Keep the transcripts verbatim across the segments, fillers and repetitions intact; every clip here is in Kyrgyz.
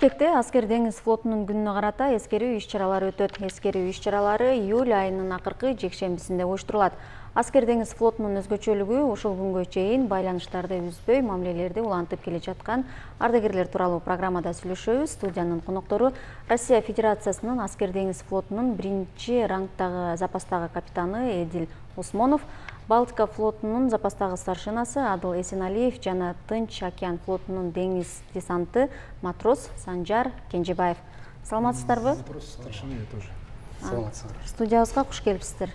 Бишкекте Аскер деңиз флотунун күнүнө карата эскерүү иш-чаралары өтөт. Эскерүү иш-чаралары июль айынын акыркы жекшембисинде уюштурулат. Аскер деңиз флотунун өзгөчөлүгү ушул күнгө чейин байланыштарды үзбөй, мамилелерди улантып келе жаткан ардагерлер тууралуу программада сүйлөшөбүз. Студиянын коноктору Россия Федерациясынын Аскер деңиз флотунун биринчи рангдагы запастагы капитаны Эдил Усмонов, Балтика флотунун запастагы старшинасы Адыл Эсеналиев жана Тынч океан флотунун деңиз десанты матрос Санжар Кенжебаев. Саламатсыздарбы? Студиябызга куш келипсиздер.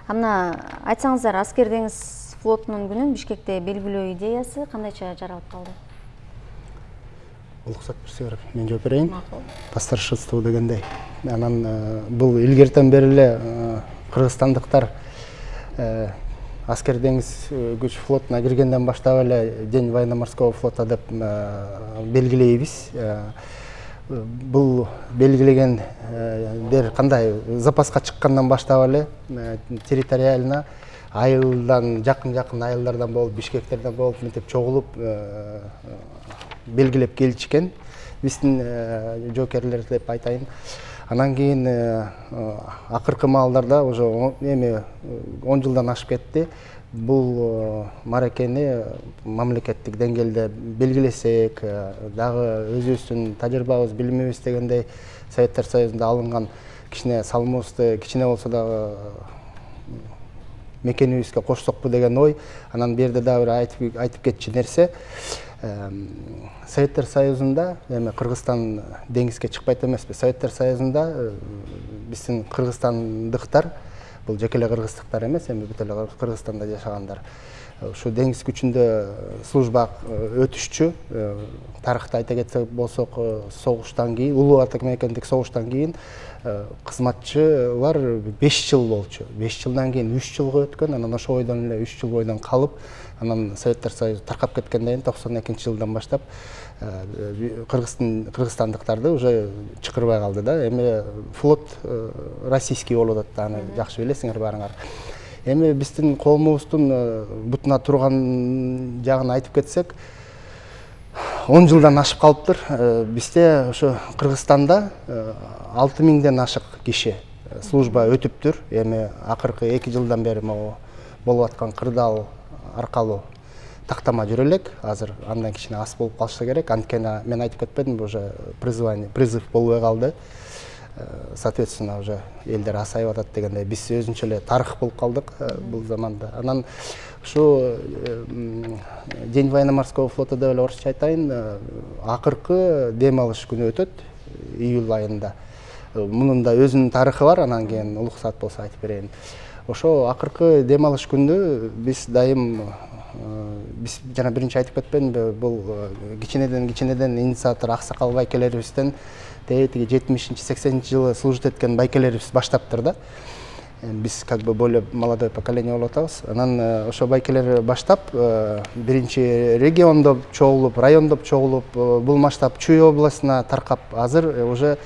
Амна айтсаңыздар, Аскер деңиз флотунун күнүн Бишкекте белгилөө идеясы кандайча жаралып калды? Уруксат берсеңер, мен жооп берейин. По старшинству дегендей. Анан бул илгертен бери эле кыргызстандыктар Аскер деңиз күч флотуна киргенден баштап эле День военно-морского флота деп белгилейбиз. Бул белгилегендер кандай запаска чыккандан баштап эле территориально айылдан жакын-жакын айылдардан болуп, Бишкектерден болуп, мынтип чогулуп белгилеп келишкен. Биздин жоокерлер деп айтайын. Анан кийин акыркы маалдарда уже эми он жылдан ашып кетти. Бул маракени мамлекеттик деңгээлде белгилесек, дагы өзүбүздүн тажрыйбабыз, билимибиз дегендей Советтер Союзунда алынган кичине салымыбызды кичине болсо дагы мекенибизге кошсокпу деген ой. Анан берде дагы бир айтып айтып кетчү нерсе. Советтер Союзунда, эми Кыргызстан деңизге чыкпайт эмеспи. Советтер Союзунда биздин кыргызстандыктар, бул жеке эле кыргыздыктар эмес, эми бүт эле Кыргызстанда жашагандар. Ушу деңиз күчүндө служба өтүшчү. Тарыхты айта кетсек болсок, согуштан кийин, улуу ата мекендик согуштан кийин кызматчылар беш жыл болчу. беш жылдан кийин үч жылга өткөн, анан ошо бойдон эле үч жыл бойдон калып, анан Советтер Союзу таркап кеткенден кийин токсон экинчи жылдан баштап кыргызстандыктарды уже чакырбай калды да. Эми флот российский болуп атат, аны жакшы билесиңер баарыңар. Эми биздин коомубуздун бутуна турган жагын айтып кетсек, он жылдан ашып калыптыр. Бизде ошо Кыргызстанда алты миңден ашык киши служба өтүптүр. Эми акыркы эки жылдан бери могу болуп аткан кырдаал аркалуу тактама жүрө элек. Азыр андан кичине аз болуп калышы керек. Анткени мен айтып кетпедимби, уже призвание, призыв болбой калды. Соответственно, уже элдер асайып атат дегендей, биз өзүнчө эле тарых болуп калдык бул заманда. Анан ушу День военно-морского флота деп эле орусча айтайын, акыркы дем алыш күнү өтөт июль айында. Мунун да өзүнүн тарыхы бар, анан кийин уруксат болсо айтып берейин. Ошо акыркы дем алыш күнү биз дайым, биз жана биринчи айтып кетпедимби, бул кичинеден кичинеден инициатор аксакал байкелерибизден тиги жетимишинчи сексенинчи жылы служит эткен байкелерибиз баштаптыр да. Биз как бы более молодое поколение болуп атабыз. Анан ошо байкелер баштап биринчи региондоп чогулуп, райондоп чогулуп, бул масштаб Чүй областына таркап, азыр уже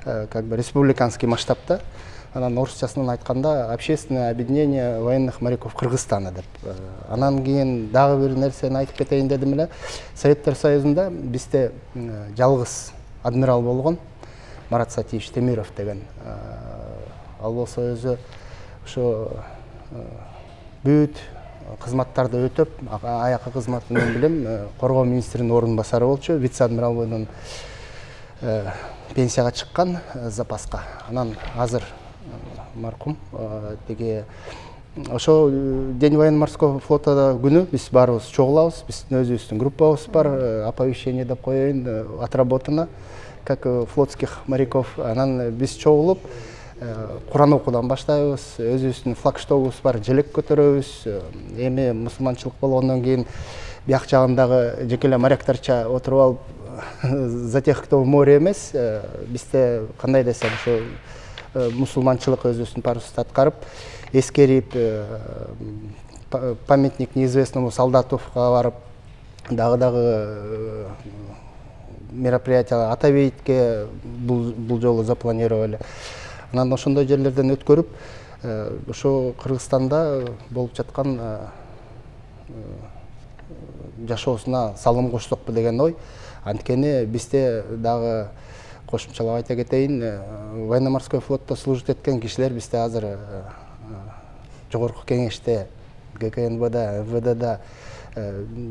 как бы республиканский масштабта. Анан орусчасынан айтканда общественное объединение военных моряков Кыргызстана деп. Анан кийин дагы бир нерсени айтып кетейин дедим эле. Советтер Союзунда бизде жалгыз адмирал болгон, Марат Сатиевич Темиров деген. Ал болсо өзү ошо бүт кызматтарды өтөп, аякы кызматын мен билем, коргоо министринин орун басары болчу, вице-адмирал бойдон пенсияга чыккан запаска. Анан азыр маркум тиги ошо День военно-морского флота күнү биз баарыбыз чогулабыз. Биздин өзүбүздүн группабыз бар, оповещение деп коеюн, отработано как флотских моряков. Анан биз чогулуп Куран окуудан баштайбыз, өзүбүздүн флагштогубуз бар, желек көтөрөбүз. Эми мусулманчылык болгондон кийин бияк жагындагы жеке эле моряктарча отуруп алып, за тех, кто в море эмес, бизде кандай десем, ошо мусулманчылык өзүбүздүн парусты аткарып, эскерип, памятник неизвестному солдатовго барып, дагы-дагы мероприятие Атабейтке бул жолу запланировали. Анан ошондой жерлерден өткөрүп, ошо Кыргызстанда болуп жаткан жашоосуна салым кошсокпу деген ой. Анткени бизде дагы кошумчалап айта кетейин, военно-морской флотто служит эткен кишилер бизде азыр жогорку кеңеште, гэ ка эн бэ да, эм вэ дэда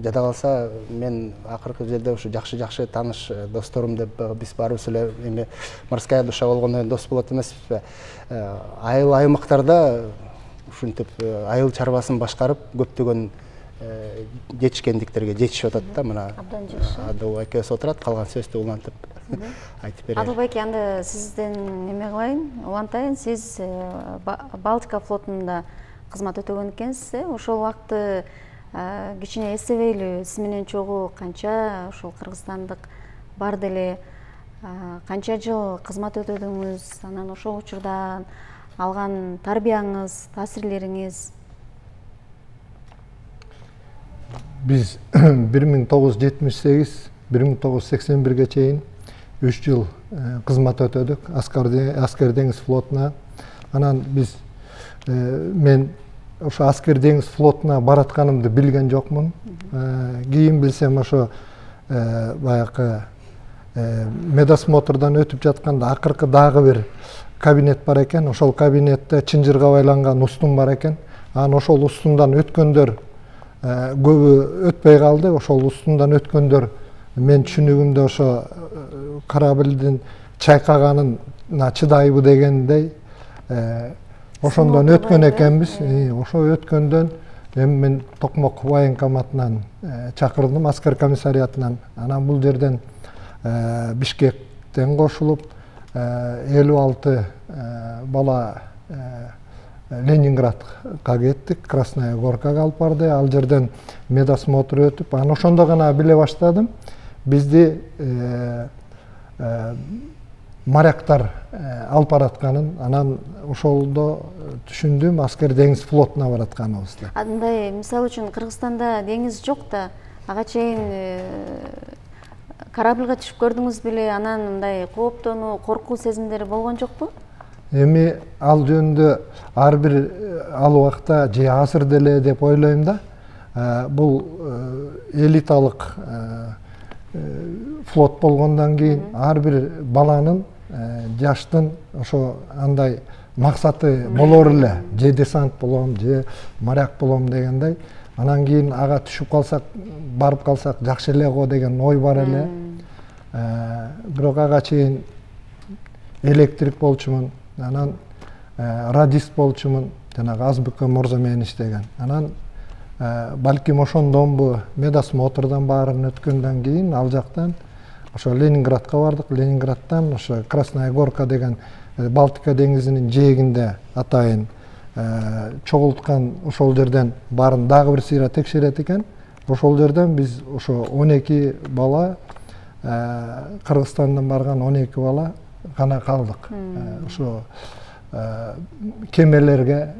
жада калса мен акыркы жерде ушу жакшы-жакшы тааныш досторум деп биз баарыбыз эле эми морская душа болгондон кийин дос болот эмеспизби? Айыл аймактарда ушинтип айыл чарбасын башкарып көптөгөн жетишкендиктерге жетишип атат да. Мына абдан жакшы. Адыл экөөбүз отурат, калган сөздү улантып айтып берели. Адыл байке, анда сизден эме кылайын, улантайын. Сиз Балтика флотунда кызмат өтөгөн экенсиз. Ошол убакты кичине эстебейлүү, сиз менен чогуу канча ошол кыргызстандык бар деле канча жыл кызмат өтөдүңүз, анан ошол учурда алган тарбияңыз, таасирлериңиз? Биз бир миң тогуз жүз жетимиш сегиз бир миң тогуз жүз сексен бирге чейин үч жыл кызмат өтөдүк Аскер деңиз флотуна. Анан биз мен ошо Аскер деңиз флотуна баратканымды билген жокмун. Кийин билсем ошо баягы медосмотрдан өтүп жатканда акыркы дагы бир кабинет бар экен. Ошол кабинетте чынжырга байланган устун бар экен. Анан ошол устундан өткөндөр көбү өтпөй калды. Ошол устундан өткөндөр мен түшүнүгүмдө ошо кораблдин чайкаганына чыдайбы дегендей ошондон өткөн экенбиз. Ошо өткөндөн эми мен Токмок военкоматынан чакырдым, аскер комиссариатынан. Анан бул жерден Бишкектен кошулуп элүү алты бала Ленинградка кеттик, Красная Горкага алып барды. Ал жерден медосмотр өтүп, анан ошондо гана биле баштадым бизди моряктар алып баратканын. Анан ошолдо түшүндүм Аскер деңиз флотуна баратканыбызды. Андай, мисалы үчүн Кыргызстанда деңиз жок да, ага чейин корабльга түшүп көрдүңүз беле? Анан мындай кооптонуу, коркуу сезимдери болгон жокпу? Эми ал жөнүндө ар бир ал убакта же азыр деле деп ойлойм да. Бул элиталык флот болгондон кийин ар бир баланын, жаштын ошо андай максаты болор эле. Же десант болом, же моряк болом дегендей. Анан кийин ага түшүп калсак, барып калсак жакшы эле го деген ой бар эле. Бирок ага чейин электрик болчумун. Анан радист болчумун, жанагы Азбыка Морзо менен иштеген. Анан балким ошондонбу медосмотрдан баарын өткөндөн кийин ал жактан ошо Ленинградка бардык. Ленинградтан ошо Красная Горка деген Балтика деңизинин жээгинде атайын чогулткан, ошол жерден баарын дагы бир сыйра текшерет экен. Ошол жерден биз ошо он эки бала, Кыргызстандан барган он эки бала гана калдык. Ошо кемелерге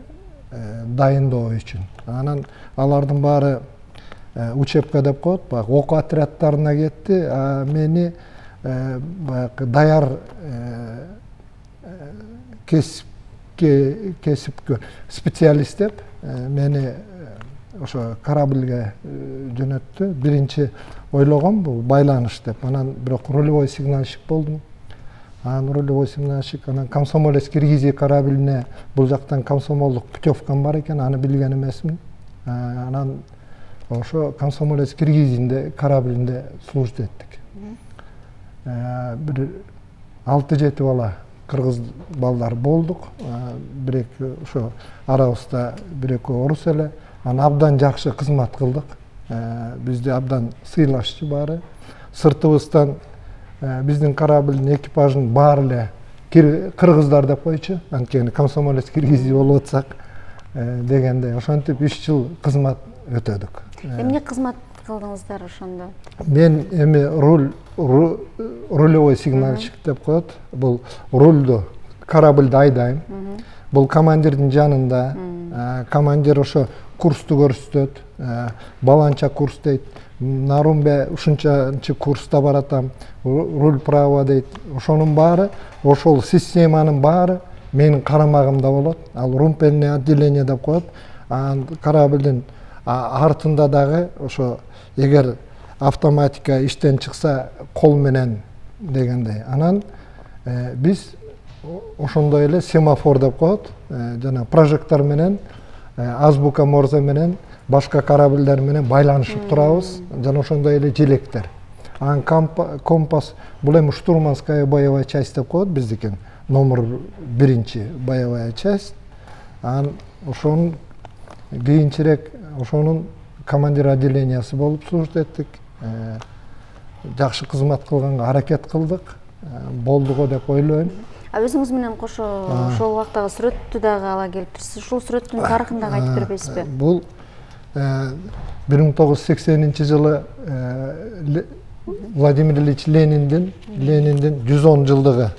дайындоо үчүн. Анан алардын баары учебка деп коет, баягы окуу отрядтарына кетти. А мени баягы даяр кесипке кесипкө специалист деп мени ошо корабльге жөнөттү. Биринчи ойлогом бул байланыш деп. Анан бирок рулевой сигнальщик болдум. Анан рулевой сигнальщик, анан Комсомолец Киргизия кораблине бул жактан комсомолдук путевкам бар экен, аны билген эмесмин. Анан ошо Комсомолец Киргизинде кораблинде служить эттик. Бир алты жети бала кыргыз балдар болдук. Бир эки ошо арабызда бир эки орус эле. Анан абдан жакшы кызмат кылдык. Бизди абдан сыйлашчу баары. Сыртыбыздан биздин кораблдин экипажын баары эле кыргыздар деп койчу. Анткени Комсомолец Киргизия болуп атсак дегендей. Ошентип үч жыл кызмат өтөдүк. Эмне кызмат кылдыңыздар ошондо? Мен эми руль рулевой сигнальщик деп коет. Бул рульду корабльды айдайм. Бул командирдин жанында. Командир ошо курсту көрсөтөт. Баланча курс дейт. Нарумбе ушунчанчы курста баратам. Руль право дейт. Ошонун баары, ошол системанын баары менин карамагымда болот. Ал румпельное отделение деп коет. Корабльдин артында дагы ошо эгер автоматика иштен чыкса кол менен дегендей. Анан биз ошондой эле семафор деп коет, жана прожектор менен, азбука морзе менен башка корабльдер менен байланышып турабыз, жана ошондой эле желектер. Анан компас бул эми штурманская боевая часть деп коет биздики, номер биринчи боевая часть. Анан ошонун кийинчерээк ошонун командир отделениясы болуп служба эттик. Жакшы кызмат кылганга аракет кылдык, болду го деп ойлойм. А өзүңүз менен кошо ошол убактагы сүрөттү дагы ала келиптирсиз. Ушул сүрөттүн тарыхын дагы айтып бербейсизби? Бул бир миң тогуз жүз сексенинчи жылы Владимир Ильич Лениндин Лениндин жүз он жылдыгы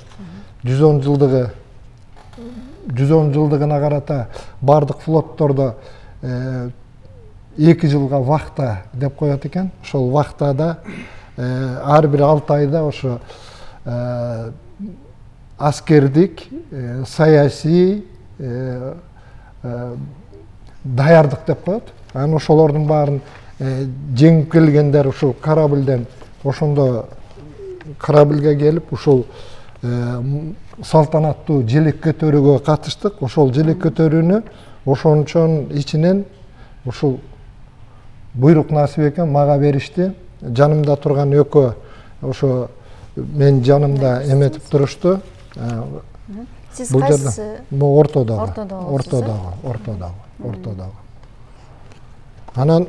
жүз он жылдыгы жүз он жылдыгына карата бардык флоттордо эки жылга вахта деп коет экен. Ошол вахтада ар бир алты айда ошо аскердик, саясий даярдык деп коет. Анан ошолордун баарын жеңип келгендер ушул корабльден ошондо корабльге келип ушул салтанаттуу желек көтөрүүгө катыштык. Ошол желек көтөрүүнү ошончонун ичинен ушул буйрук насип экен мага беришти. Жанымда турган экөө ошо мен жанымда эметип турушту. Сиз кайсы? Бул ортодогу. Ортодогу, ортодогу, ортодогу. Анан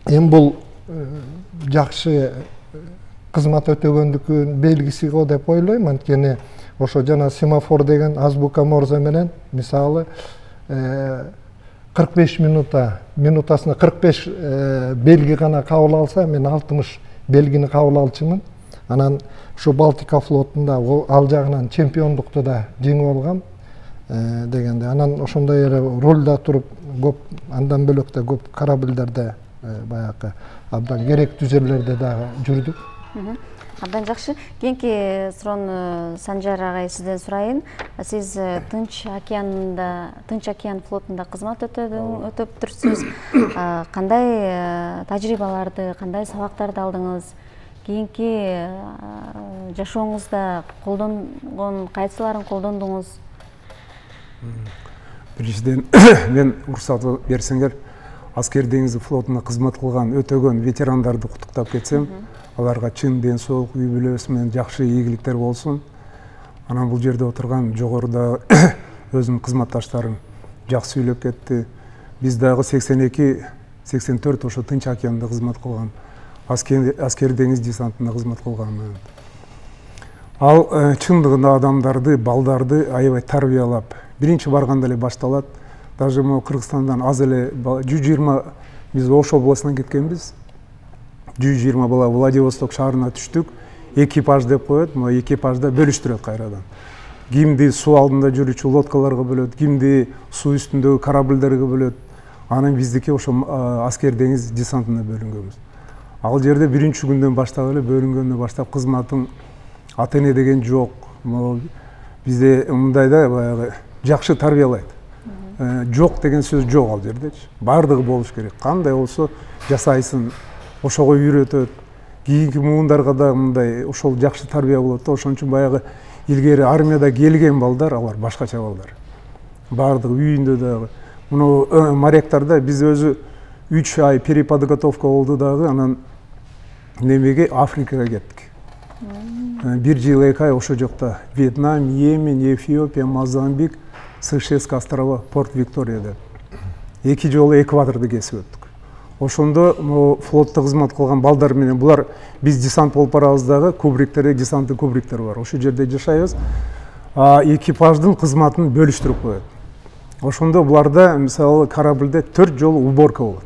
эми бул жакшы кызмат өтөгөндүкүнүн белгиси го деп ойлойм. Анткени ошо жана семафор деген азбука морзе менен мисалы кырк беш минута минутасына кырк беш белги гана кабыл алса, мен алтымыш белгини кабыл алчумун. Анан ушу Балтика флотунда ал жагынан чемпиондукту да жеңип алгам дегенде. Анан ошондой эле рулда туруп көп, андан бөлөк да көп корабльдерде баягы абдан керектүү жерлерде дагы жүрдүк. Абдан жакшы. Кийинки суроону Санжар агай сизден сурайын. Сиз Тынч океанында, Тынч океан флотунда кызмат өтөптүрсүз. Кандай тажрыйбаларды, кандай сабактарды алдыңыз? Кийинки жашооңузда колдонгон кайсыларын колдондуңуз? Биринчиден мен уруксат берсеңер, аскер деңиз флотунда кызмат кылган өтөгөн ветерандарды куттуктап кетсем, аларга чын ден соолук, үй бүлөсү менен жакшы ийгиликтер болсун. Анан бул жерде отурган жогоруда өзүмдүн кызматташтарым жакшы сүйлөп кетти. Биз дагы сексен эки сексен төрт ошо Тынч океанында кызмат кылган, аскер деңиз десантында кызмат кылган. Ал чындыгында адамдарды, балдарды аябай тарбиялап, биринчи барганда эле башталат. Даже могу Кыргызстандан аз эле жүз жыйырма, биз Ош областынан кеткенбиз. жүз жыйырма бала Владивосток шаарына түштүк. Экипаж деп коет, могу экипажда бөлүштүрөт кайрадан. Кимди суу алдында жүрүүчү лодкаларга бөлөт, кимди суу үстүндөгү корабльдерге бөлөт. Анан биздики ошо аскер деңиз десантына бөлүнгөнбүз. Ал жерде биринчи күндөн баштап эле бөлүнгөндөн баштап кызматым ата эне деген жок. Бизде мындайда баягы жакшы тарбиялайт. Жок деген сөз жок ал жердечи. Бардыгы болуш керек. Кандай болсо жасайсың, ошого үйрөтөт. Кийинки муундарга да мындай ошол жакшы тарбия болот да. Ошон үчүн баягы илгери армияда келген балдар, алар башкача балдар. Бардыгы үйүндө дагы. Муну моряктарда биз өзү үч ай переподготовка болду дагы, анан немеге Африкага кеттик. Бир жыл эки ай ошо жокто Вьетнам, Йемен, Эфиопия, Мозамбик, Сейшельский острова, Порт Виктория деп. Эки жолу экваторду кесип өттүк. Ошондо могу флотто кызмат кылган балдар менен булар биз десант болуп барабыз дагы, кубриктер, десанттык кубриктер бар. Ошол жерде жашайбыз. Экипаждын кызматын бөлүштүрүп коет. Ошондо буларда мисалы корабльде төрт жолу уборка болот.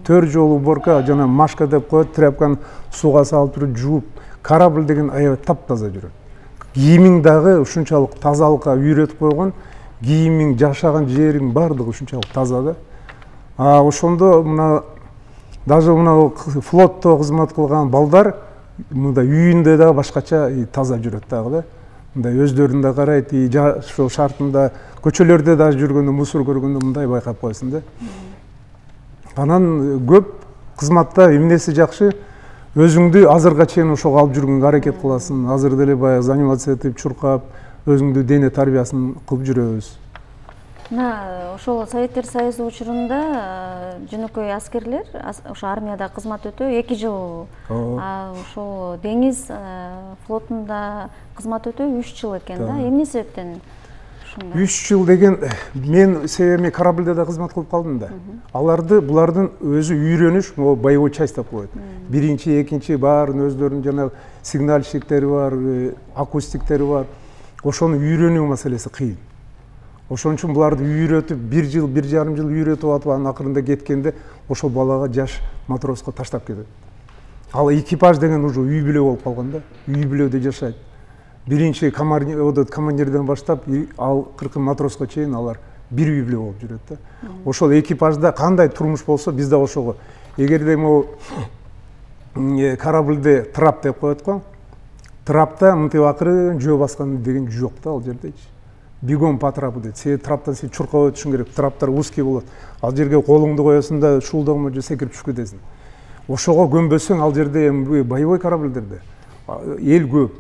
төрт жолу уборка, жана машка деп коет, тряпканы сууга салып туруп жууп, корабль деген аябай таптаза жүрөт. Кийимиң дагы ушунчалык тазалыкка үйрөтүп койгон, кийимиң, жашаган жериң бардыгы ушунчалык таза да. А ошондо мына даже мына флотто кызмат кылган балдар мындай үйүндө дагы башкача таза жүрөт дагы да. Мындай өздөрүн да карайт, жашоо шартында, көчөлөрдө дагы жүргөндө, мусор көргөндө мындай байкап коесуң да. Анан көп кызматта эмнеси жакшы, өзүңдү азырга чейин ошого алып жүргөнгө аракет кыласың. Азыр деле баягы занимация этип, чуркап, өзүңдү дене тарбиясын кылып жүрөбүз. Мына ошол Советтер Союзу учурунда жөнөкөй аскерлер ошо армияда кызмат өтөө эки жыл, ошол деңиз флотунда кызмат өтөө үч жыл экен да. Эмне себептен ушундай? үч жыл деген, мен себеби корабльде да кызмат кылып калдым да. Аларды булардын өзү үйрөнүш, могу боевой часть деп коет. Биринчи, экинчи баарын өздөрүнүн жана сигнальщиктери бар, акустиктери бар. Ошону үйрөнүү маселеси кыйын. Ошон үчүн буларды үйрөтүп, бир жыл, бир жарым жыл үйрөтүп атып, анын акырында кеткенде ошол балага жаш матроско таштап кетет. Ал экипаж деген уже үй бүлө болуп калган да, үй бүлөдө жашайт. Биринчи командирден баштап, ал кыркы матроско чейин алар бир үй бүлө болуп жүрөт да. Ошол экипажда кандай турмуш болсо, биз да ошого. Эгерде могу корабльде трап деп коет го, трапта мынтип акырын жөө баскан деген жок да ал жердечи. Бегом по трапу дейт. Сен траптан сен чуркап өтүшүң керек. Траптар узкий болот. Ал жерге колуңду коесуң да шуулдагы же секирип түшүп кетесиң. Ошого көнбөсөң ал жерде боевой корабльдерде эл көп.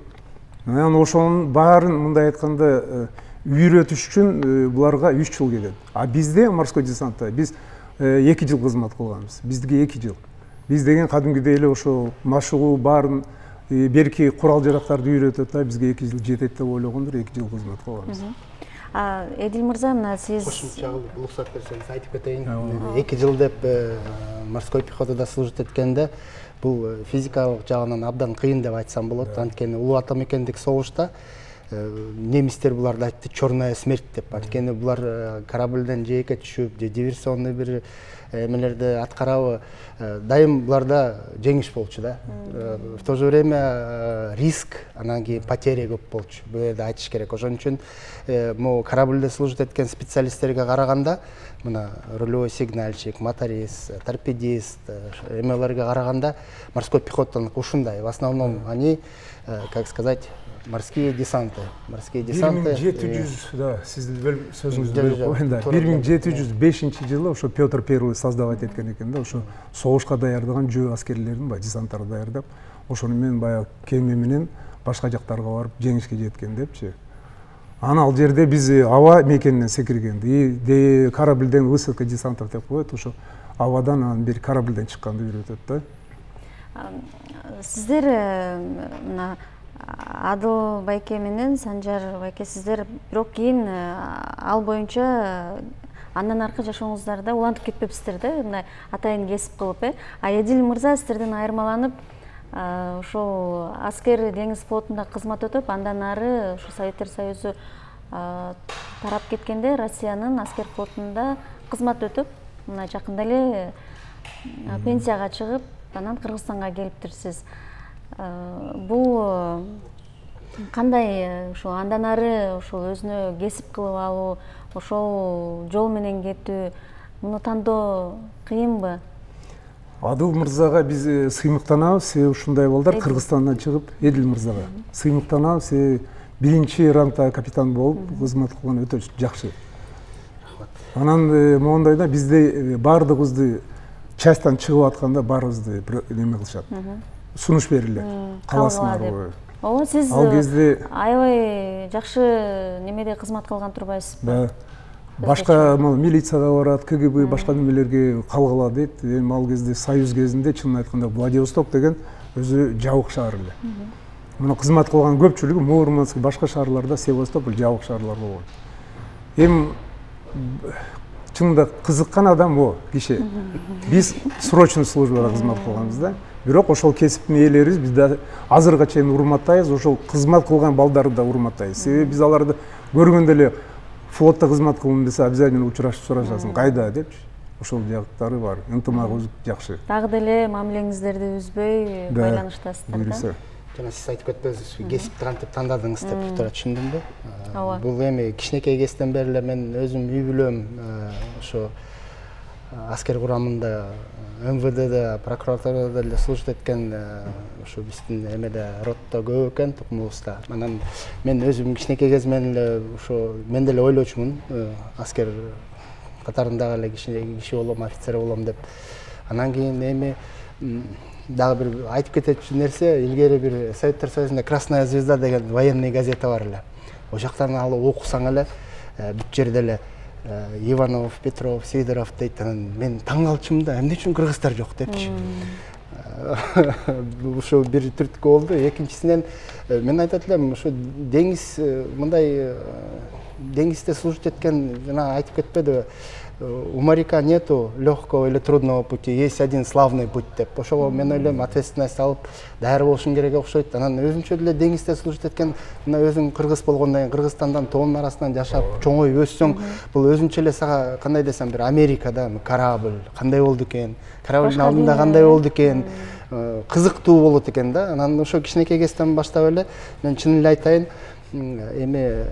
Анан ошонун баарын мындай айтканда үйрөтүш үчүн буларга үч жыл кетет. А бизде морской десантта биз эки жыл кызмат кылганбыз. Биздики эки жыл. Биз деген кадимгидей эле ошо машыгуу баарын берки курал жарактарды үйрөтөт да, бизге эки жыл жетет деп ойлогондур, эки жыл кызмат кылганбыз. Эдил мырза, мына сиз кошумча уруксат берсеңиз айтып кетейин. эки жыл деп морской пехотада служить эткенде бул физикалык жагынан абдан кыйын деп айтсам болот. Анткени улуу ата мекендик согушта немистер буларды айтты черная смерть деп. Анткени булар корабльден жээкке түшүп, же диверсионный бир эмелерди аткарабы, дайым буларда жеңиш болчу да. В то же время риск, анан кийин потеря көп болчу. Бул жерде айтыш керек. Ошон үчүн могу корабльде служить эткен специалисттерге караганда, мына рулевой сигнальщик, моторист, торпедист эмелерге караганда морской пехотанын ушундай. В основном они, как сказать, морские десанты. Морские десанты. бир миң жети жүз, да, сиздин сөзүңүздү бөлүп коеюн да. бир миң жети жүз бешинчи жылы ошо Петр Первый создавать эткен экен да, ошо согушка даярдаган жөө аскерлерин баягы десанттарды даярдап, ошону менен баягы кеме менен башка жактарга барып жеңишке жеткен депчи. Аны ал жерде биз аба мекенинен секиргенди, корабльден высадка десантов деп коет, ошо абадан анан бир корабльден чыкканды үйрөтөт да. Сиздер мына Адыл байке менен Санжар байке сиздер бирок кийин ал боюнча андан аркы жашооңуздарда улантып кетпепсиздер да, мындай атайын кесип кылып, э? А Эдил мырза сиздерден айырмаланып, ошол аскер деңиз флотунда кызмат өтүп, андан ары ошо Советтер Союзу тарап кеткенде Россиянын аскер флотунда кызмат өтүп, мына жакында эле пенсияга чыгып, анан Кыргызстанга келиптирсиз. Бул кандай ошо андан ары ошол өзүнө кесип кылып алуу, ошол жол менен кетүү, муну тандоо кыйынбы? Адыл мырзага биз сыймыктанабыз, себеби ушундай балдар Кыргызстандан чыгып, Эдил мырзага сыймыктанабыз, себеби биринчи рангда капитан болуп кызмат кылган өтө жакшы. Анан моундай да, бизде баардыгыбызды частьтан чыгып атканда баарыбызды неме кылышат. Сунуш берилет. Каласыңар деп. Ооба, сиз ал кезде аябай жакшы немеде кызмат кылган турбайсызбы? Башка милицияга барат, ка гэ бэ башка немелерге калгыла дейт. Эми ал кезде Союз кезинде чынын айтканда Владивосток деген өзү жабык шаар эле. Мына кызмат кылган көпчүлүгү Мурманск, башка шаарларда Севастополь жабык шаарлар болгон. Эми чынында кызыккан адам о киши. Биз срочный службада кызмат кылганбыз да. Бирок ошол кесиптин ээлерибиз биз да азырга чейин урматтайбыз, ошол кызмат кылган балдарды да урматтайбыз. Себеби биз аларды көргөндө эле флотто кызмат кылдым десе обязательно учурашып сурашасың, кайда депчи. Ошол жактары бар, ынтымагыбыз жакшы. Дагы деле мамилеңиздерди үзбөй байланыштасыздар да. Жана сиз айтып кетпедиңиз, кесипти кантип тандадыңыз деп туура түшүндүмбү? Бул эми кичинекей кезден бери эле мен өзүм үй бүлөм ошо аскер курамында эм вэ дэ, прокуратурада эле служить эткен ошо биздин эмеде ротто көп экен тукумубузда. Анан мен өзүм кичинекей кезимден эле ошо мен деле ойлочумун, аскер катарындагы эле киши болом, офицер болом деп. Анан кийин эми дагы бир айтып кетечү нерсе, илгери бир Советтер Союзунда Красная звезда деген военный газета бар эле. Ошол жактан алып окусаң эле бүт жерде эле Иванов, Петров, Сидоров дейт. Анан мен таң калчумун да, эмне үчүн кыргыздар жок депчи. Ошо бир түрткү болду. Экинчисинен мен айтат элем, ошо деңиз мындай деңизде служить эткен, жана айтып кетпеди, у моряка нету легкого или трудного пути, есть один славный путь деп. Ошого мен ойлойм, ответственность алып даяр болушуң керек окшойт. Анан өзүнчө деле деңизде служить эткен, мына өзүң кыргыз болгондон кийин Кыргызстандан тоонун арасынан жашап, чоңоюп өссөң, бул өзүнчө эле сага кандай десем, бир Америкада корабль кандай болду экен, кораблдын алдында кандай болду экен, кызыктуу болот экен да. Анан ошо кичинекей кезден баштап эле мен чын эле айтайын, эми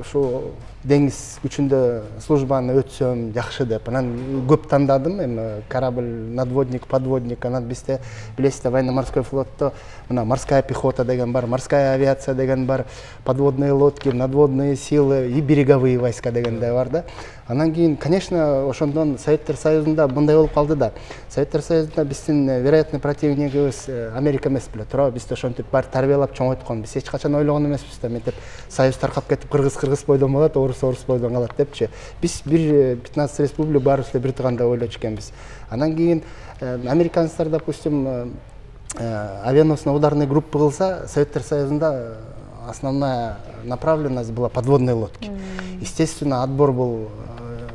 ушу деңиз күчүндө службаны өтсөм жакшы деп. Анан көп тандадым, эми корабль, надводник, подводник. Анан бизде билесиздер, военно-морской флотто мына морская пехота деген бар, морская авиация деген бар, подводные лодки, надводные силы и береговые войска дегендей бар да. Анан кийин, конечно, ошондон Советтер Союзунда мындай болуп калды да. Советтер Союзунда биздин вероятный противнигибиз Америка эмес беле, туура? Бизди ошентип бар тарбиялап чоңойткон. Биз эч качан ойлогон эмеспиз да, мынтип Союз таркап кетип, кыргыз кыргыз бойдон болот, орус орус бойдон калат депчи. Биз бир пятнадцать республик баарыбыз эле бир туугандай ойлочу экенбиз. Анан кийин американецтер, допустим, авианосно-ударный группа кылса, Советтер Союзунда основная направленность была подводные лодки. Естественно, отбор был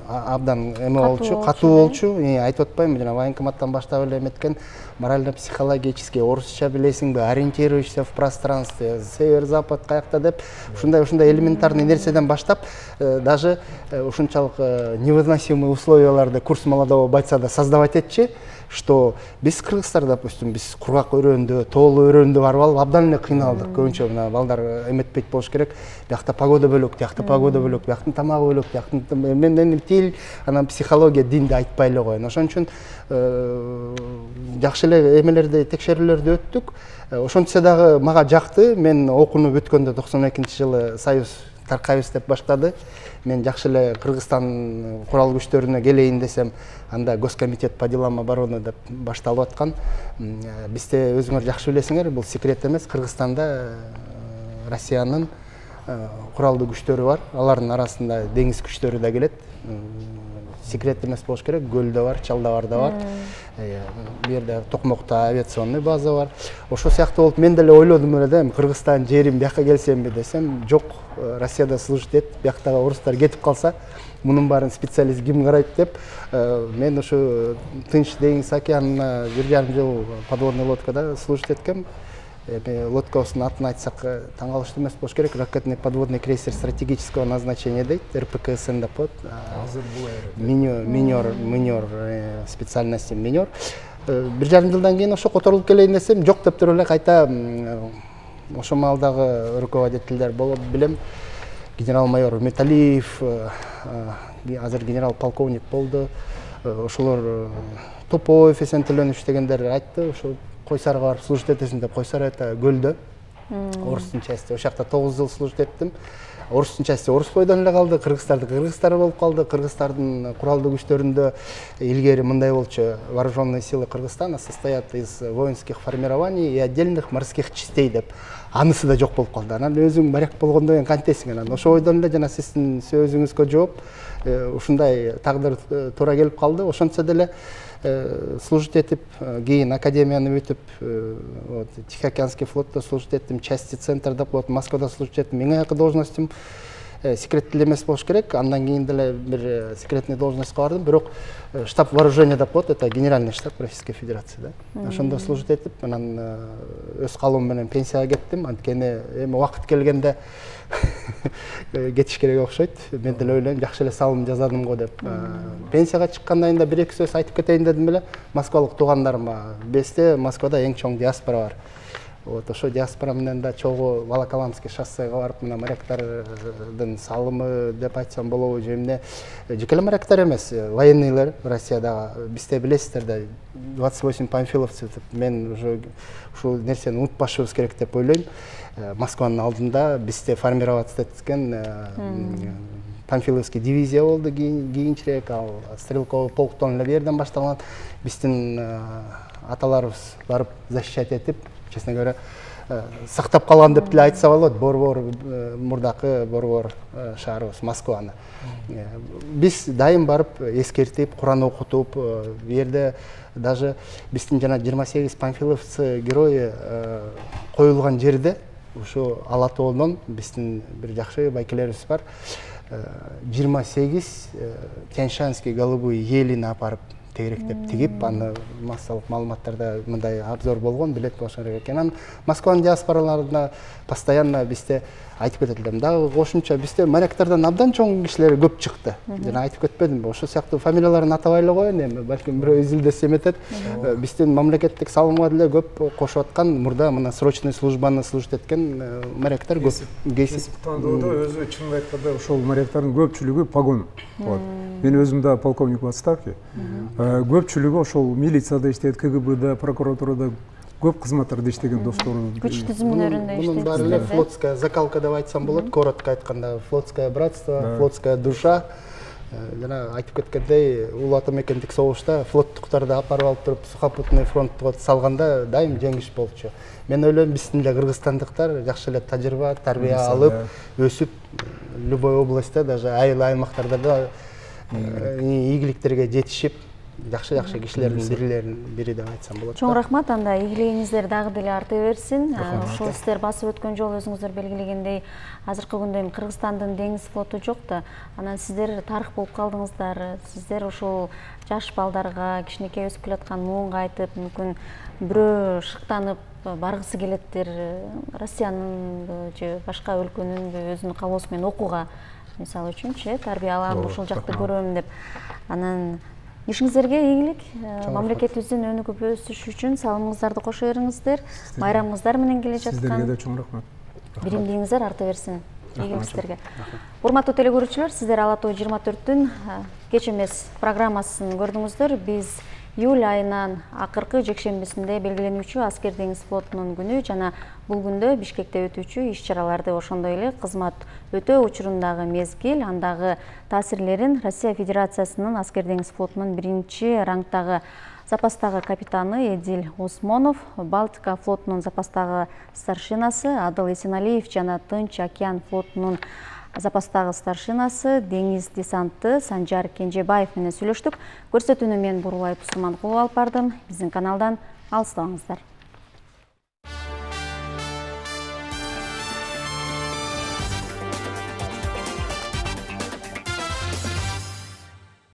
абдан эме болчу, катуу болчу. Айтып атпайм, жана военкоматтан баштап эле эметкен, морально-психологический, орусча билесиңби, ориентируешься в пространстве, север-запад каякта деп, ушундай ушундай элементарный нерседен баштап, даже ушунчалык невыносимый условияларды курс молодого бойца да создавать этчи, что биз кыргыздар, допустим, биз кургак өрөөндө, тоолуу өрөөндө барып алып абдан эле кыйналдык. Көбүнчө мына балдар эметпейт болуш керек. Биякта погода бөлөк, биякта погода бөлөк, бияктын тамагы бөлөк, бияктын мен тил, анан психология, динди айтпай эле коеюн. Ошон үчүн жакшы эле эмелерди, текшерүүлөрдү өттүк. Ошентсе дагы мага жакты. Мен окууну бүткөндө токсон экинчи жылы Союз таркайбыз деп баштады. Мен жакшы эле Кыргызстан курал күчтөрүнө келейин десем, анда Госкомитет по делам обороны деп башталып аткан. Бизде өзүңөр жакшы билесиңер, бул секрет эмес. Кыргызстанда Россиянын куралдуу күчтөрү бар. Алардын арасында деңиз күчтөрү да келет. Секрет эмес болуш керек. Көлдө бар, Чалдабарда бар. Бу жерде Токмокто авиационный база бар. Ошол сыяктуу болуп мен деле ойлодум эле да, Кыргызстан жерим, бияка келсемби десем, жок, Россияда служить этип, бияктагы орустар кетип калса, мунун баарын специалист ким карайт деп, мен ушу Тынч деңиз океанына бир жарым жыл подводный лодкада служить эткем. Лодкабыздын атын айтсак таң калыштуу эмес болуш керек. Ракетный подводный крейсер стратегического назначения дейт, эр пэ ка эс эн деп коет. Азыр бул минер, минер специальности минер. Бир жарым жылдан кийин ошо которулуп келейин десем, жок деп туруп эле кайта ошо маалдагы руководительдер болуп билем. Генерал-майор Металиев, азыр генерал-полковник болду. Ошолор Топоев, Эсен Төлөнүч дегендер айтты, ошо Койсарга барып служить этесиң деп, Койсар это көлдө, орустун части. Ошол жакта тогуз жыл служить эттим. Орустун части орус бойдон эле калды, кыргыздарды кыргыздар болуп калды. Кыргыздардын куралдуу күчтөрүндө илгери мындай болчу: вооруженные силы Кыргызстана состоят из воинских формирований и отдельных морских частей деп. Анысы да жок болуп калды. Анан өзүң моряк болгондон кийин кантесиң? Анан ошо бойдон эле жана сиздин сөзүңүзгө жооп, ушундай тагдыр туура келип калды. Ошентсе деле служить этип, кийин академияны бүтүп, Тихоокеанский флотто служить эттим, части центр деп коет, Москвада служить эттим. Эң акыркы должностум секреттүү эмес болуш керек. Андан кийин деле бир секретный должностька бардым, бирок штаб вооружения деп коет, это генеральный штаб Российской Федерации, да. Ошондо служить этип, анан өз калуум менен пенсияга кеттим. Анткени эми убакыт келгенде кетиш керек окшойт. Мен деле ойлойм, жакшы эле салым жазадым го деп. Пенсияга чыккандан кийин да бир эки сөз айтып кетейин дедим эле. Москвалык туугандарыма, бизде Москвада эң чоң диаспора бар. Вот ошо диаспора менен да чогуу Волоколамский шоссеге барып, мына моряктардын салымы деп айтсам болобу же эмне. Жеке эле моряктар эмес, военныйлар Россиядагы, бизде билесиздер да, двадцать восемь панфиловцев деп. Мен уже ушул нерсени унутпашыбыз керек деп ойлойм. Москванын алдында бизде формироваться эткен Панфиловский дивизия болду кийинчерээк, ал стрелковый полктон эле бул жерден башталган. Биздин аталарыбыз барып защищать этип, честно говоря, сактап калган деп деле айтса болот. Борбор мурдакы борбор шаарыбыз Москваны. Биз дайым барып эскертип, Куран окутуп, бул жерде даже биздин жана жыйырма сегиз панфиловцы герои коюлган жерде ушу Ала тоонон биздин бир жакшы байкелерибиз бар. жыйырма сегиз Тяньшанский голубой елин апарып тегеректеп тигип, аны массалык маалыматтарда мындай обзор болгон, билет болушу керек экен. Анан Москванын диаспораларына постоянно бизде айтып кететилер. Дагы кошумча бизде моряктардан абдан чоң кишилер көп чыкты. Жана айтып кетпедимби? Ошол сыяктуу фамилияларын атабай эле коеюн, эми балким бирөө изилдесе эметет. Биздин мамлекеттик салымга деле көп кошуп аткан, мурда мына срочный службаны служить эткен моряктар көп. Кесип тандоодо өзү чын айтканда ошол моряктардын көпчүлүгү погон болот. Мен өзүм да полковник в отставке. Көпчүлүгү ошол милицияда иштейт, КГБда, прокуратурада көп кызматтарда иштеген досторум. Күч түзүмдөрүндө иштейт. Мунун баары эле флотская закалка деп айтсам болот, коротко айтканда, флотское братство, флотская душа. Жана айтып кеткендей, улуу ата мекендик согушта флоттуктарды апарып алып туруп сухопутный фронтко салганда дайым жеңиш болчу. Мен ойлойм, биздин эле кыргызстандыктар жакшы эле тажрыйба, тарбия алып, өсүп, любой областьта, даже айыл аймактарда да ийгиликтерге жетишип, жакшы-жакшы кишилердин бирлерин бири деп айтсам болот. Чоң рахмат, анда ийгилигиңиздер дагы деле арта берсин. Ошол сиздер басып өткөн жолу өзүңүздөр белгилегендей, азыркы күндө эми Кыргызстандын деңиз флоту жок да. Анан сиздер тарых болуп калдыңыздар. Сиздер ошол жаш балдарга, кичинекей өсүп келаткан муунга айтып, мүмкүн бирөө шыктанып баргысы келеттир, Россиянын же башка өлкөнүн өзүнүн каалоосу менен окууга, мисалы үчүнчү, тарбия алам, ошол жакты көрөм деп. Анан ишиңиздерге ийгилик, мамлекетибиздин өнүгүп өсүшү үчүн салымыңыздарды кошо бериңиздер. Байрамыңыздар менен келе жаткан. Сиздерге да чоң рахмат. Биримдигиңиздер арта берсин. Ийгиликтерге. Урматтуу телекөрүүчүлөр, сиздер Ала тоо жыйырма төрттүн кеч эмес программасын көрдүңүздөр. Биз июль айынын акыркы жекшембисинде белгиленүүчү аскер деңиз флотунун күнү жана бул күндө Бишкекте өтүүчү иш-чараларды, ошондой эле кызмат өтөө учурундагы мезгил, андагы таасирлерин Россия Федерациясынын аскер деңиз флотунун биринчи рангдагы запастагы капитаны Эдил Осмонов, Балтика флотунун запастагы старшинасы Адыл Эсеналиев жана Тынч океан флотунун запастагы старшинасы деңиз десанты Санжар Кенжебаев менен сүйлөштүк. Көрсөтүүнү мен Бурулай Тусурманкулова алып бардым. Биздин каналдан алыстабаңыздар.